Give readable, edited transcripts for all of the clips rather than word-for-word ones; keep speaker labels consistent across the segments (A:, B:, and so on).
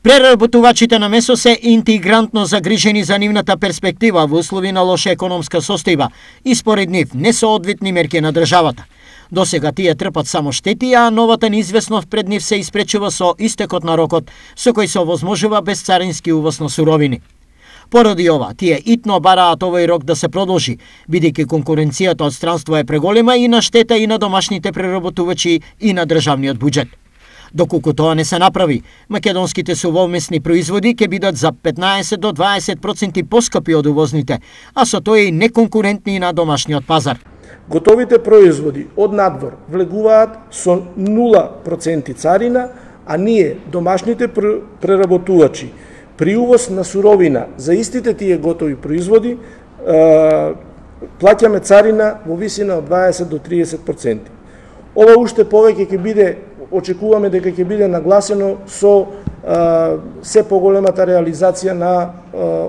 A: Преработувачите на месо се интегрантно загрижени за нивната перспектива во услови на лоша економска состојба и според нив несоодветни мерки на државата. Досега тие трпат само штети, а новата неизвестност пред нив се испречува со истекот на рокот со кој се овозможува безцарински увоз на суровини. Поради ова, тие итно бараат овој рок да се продолжи, бидејќи конкуренцијата од странство е преголема и на штета и на домашните преработувачи и на државниот буџет. Доколку тоа не се направи, македонските сувомесни производи ќе бидат за 15 до 20% поскапи од увозните, а со тоа и неконкурентни на домашниот пазар.
B: Готовите производи од надвор влегуваат со 0% царина, а ние, домашните преработувачи, при увоз на суровина за истите тие готови производи, плаќаме царина во висина од 20 до 30%. Ова уште повеќе ќе биде, очекуваме дека ќе биде нагласено со се поголемата реализација на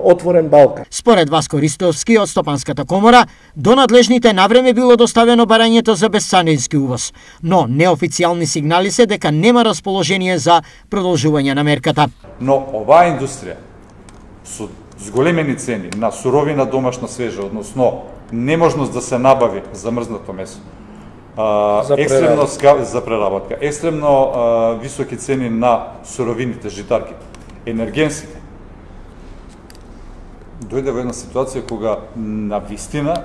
B: отворен Балкан.
A: Според Васко Ристовски од Стопанската комора, до надлежните навреме било доставено барањето за безцарински увоз, но неофицијални сигнали се дека нема расположение за продолжување на мерката.
C: Но оваа индустрија со зголемени цени на суровина домашна свежа, односно неможност да се набави замрзнато месо, екстремно за преработка, екстремно високи цени на суровините, житарките, енергенсите. Дојде во една ситуација кога на вистина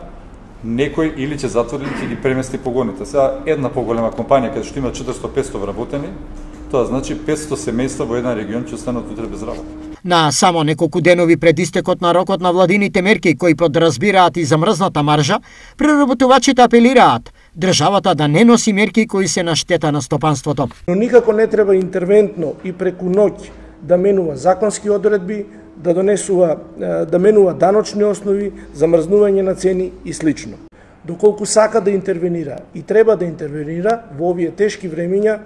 C: некој или ќе затвори или ќе ги премести погоните. Сега една поголема компанија каде што има 400-500 вработени, тоа значи 500 семејства во еден регион ќе останат утре без работа.
A: На само неколку денови пред истекот на рокот на владините мерки кои подразбираат и замрзната маржа, преработувачите апелираат државата да не носи мерки кои се на штета на стопанството.
B: Но никако не треба интервентно и преку ноќ да менува законски одредби, да менува даночни основи, замрзнување на цени и слично. Доколку сака да интервенира и треба да интервенира во овие тешки времиња,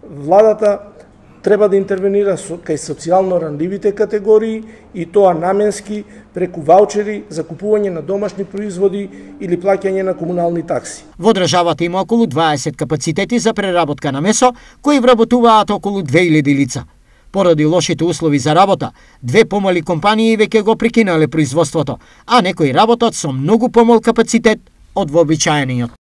B: владата треба да интервенира кај социјално ранливите категории и тоа наменски преку ваучери за купување на домашни производи или плаќање на комунални такси.
A: Во државата има околу 20 капацитети за преработка на месо кои вработуваат околу 2000 лица. Поради лошите услови за работа, две помали компании веќе го прекинале производството, а некои работат со многу помал капацитет од вообичаениот.